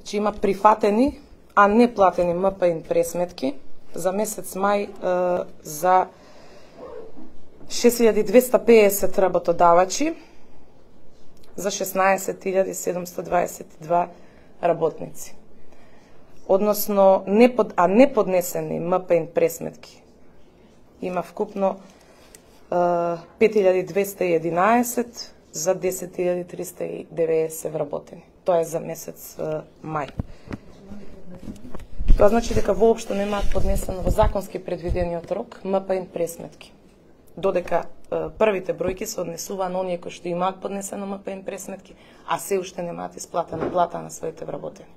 Значи има прифатени, а не платени МПИ пресметки за месец мај за 6250 работодавачи за 16722 работници. Односно, неподнесени МПИ пресметки има вкупно 5211 за 10390 вработени. Тоа е за месец мај. Тоа значи дека воопшто немаат поднесено во законски предвидениот рок МПИ пресметки. Додека првите бројки се однесуваа на оние кои што имаат поднесено МПИ пресметки, а се уште немаат исплатена плата на своите вработени.